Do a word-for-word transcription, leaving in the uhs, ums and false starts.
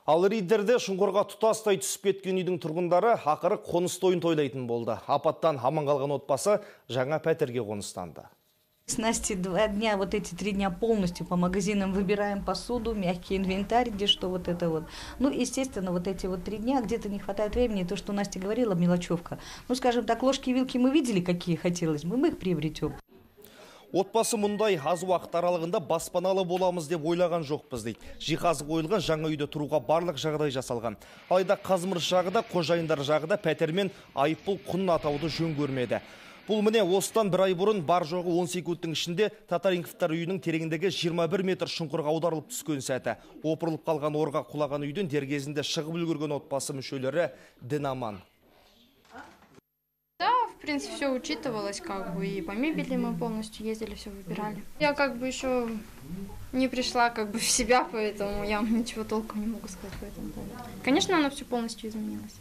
Ал Риддерде шұңқырға тұтастай түсіп кеткен үйдің тұрғындары ақыры қоныс тойын тойлайтын болды. Апаттан аман қалған отбасы жаңа пәтерге қоныстанды. С Настей два дня, вот эти три дня полностью по магазинам выбираем посуду, мягкий инвентарь, где что вот это вот. Ну, естественно, вот эти вот три дня где-то не хватает времени, то, что Настя говорила, мелочевка. Ну, скажем так, ложки и вилки мы видели, какие хотелось, мы их приобретем. Отбасы мұндай аз уақыт аралығында баспаналы боламыз деп ойлаған жоқпыз дейді. Жиһазы қойылған жаңа үйде тұруға барлық жағдай жасалған. Алайда қазмырыш жағы да, қожайындар жағы да пәтермен айыппұл құнын атауды жөн көрмеді. Бұл міне осыдан бір ай бұрын бар жоғы он секундтың ішінде Татаринковтар үйінің тереңдігі жиырма бір метр шұңқырға аударылып түскен сәті. Опырылып қалған орға құлаған үйден дер кезінде шығып үлгерген отбасы мүшелері дін аман. Да, в принципе, все учитывалось, как бы, и по мебели мы полностью ездили, все выбирали. Я как бы еще не пришла как бы в себя, поэтому я ничего толком не могу сказать по этому поводу. Конечно, оно все полностью изменилось.